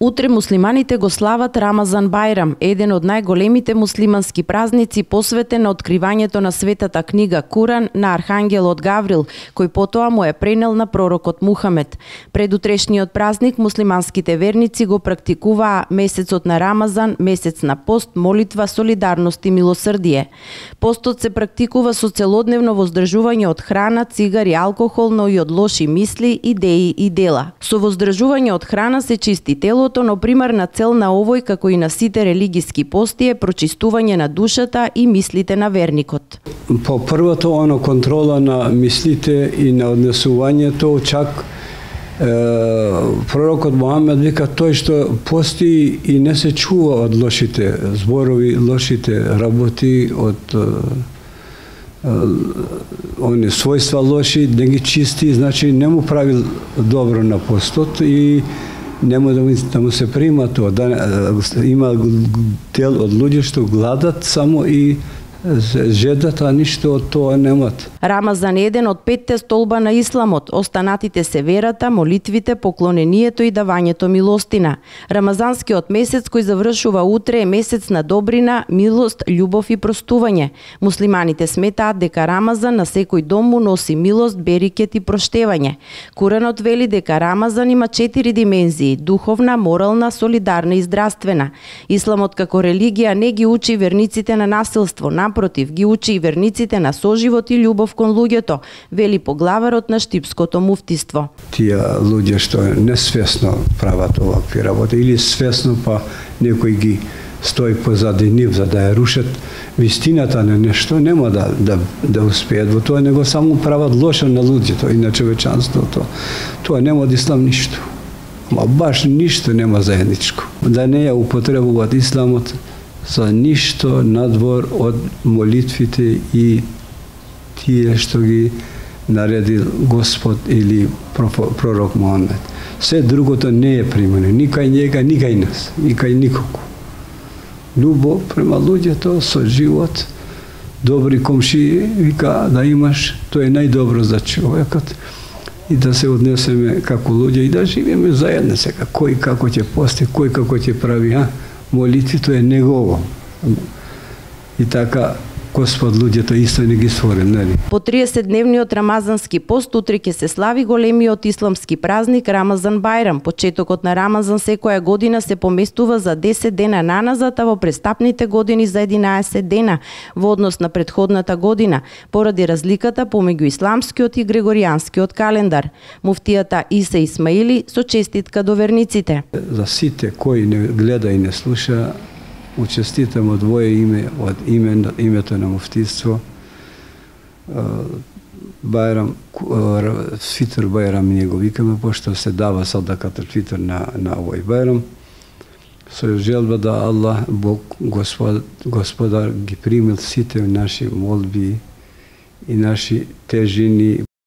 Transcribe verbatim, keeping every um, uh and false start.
Утре муслиманите го слават Рамазан Бајрам, еден од најголемите муслимански празници посветен на откривањето на светата книга Куран на архангелот Гаврил, кој потоа му е пренел на пророкот Мухамед. Пред утрешниот празник муслиманските верници го практикуваа месецот на Рамазан, месец на пост, молитва, солидарност и милосрдие. Постот се практикува со целодневно воздржување од храна, цигари, алкохол, но и од лоши мисли, идеи и дела. Со воздржување од храна се чисти телото, но примарна цел на овој, како и на сите религиски пости, е прочистување на душата и мислите на верникот. По првото оно контрола на мислите и на однесувањето, чак е, пророкот Мухамед вика тој што пости и не се чува од лошите зборови, лошите работи, од они својства лоши, да ги чисти, значи не му прави добро на постот и нема да му, да му се прима тоа. Да, има дел од луѓе што гладат само и жедат, а ништо од тоа немат. Рамазан е еден од петте столба на исламот. Останатите се верата, молитвите, поклонението и давањето милостина. Рамазанскиот месец кој завршува утре е месец на добрина, милост, љубов и простување. Муслиманите сметаат дека Рамазан на секој дом му носи милост, берикет и проштевање. Куранот вели дека Рамазан има четири димензии: духовна, морална, солидарна и здравствена. Исламот како религија не ги учи верниците на насилство, напротив, ги учи и верниците на соживот и љубов кон луѓето, вели поглаварот на Штипското муфтиство. Тие луѓе што несвесно прават овакви работи или свесно, па некој ги стои позади нив за да ја рушат вистината на нешто, нема да, да, да успеат во тоа, него само прават лошо на луѓето и на човечанството. Тоа нема од ислам ништо. Ма баш ништо нема заедничко. Да не ја употребуваат исламот за ништо надвор од молитвите и тие што ги наредил Господ или пророк Мухамед. Се другото не е примено, ни кај njega, ни кај нас, ни кај никого. Љубов према луѓето со живот, добри комшии, вика да имаш, тоа е најдобро за човекот. И да се однесеме како луѓе и да живееме заедно сега. Кој како ќе пости, кој како ќе прави, а? Молитвито е негово. И така Господ луѓето исто не ги створил, нели? По триесетдневниот рамазански пост утре ќе се слави големиот исламски празник Рамазан Бајрам. Почетокот на Рамазан секоја година се поместува за десет дена наназад, а во престапните години за единаесет дена во однос на претходната година, поради разликата помеѓу исламскиот и григоријанскиот календар. Муфтијата Иса Исмаили со честитка до верниците. За сите кои не гледа и не слуша, учеститам од твое име, од име, името на муфтиство. Бајрам, фитр Бајрам ние го викаме, пошто се дава садаката фитр на, на овој Бајрам. Со желба да Аллах, Бог, Господ, Господар ги примил сите наши молби и наши тежини.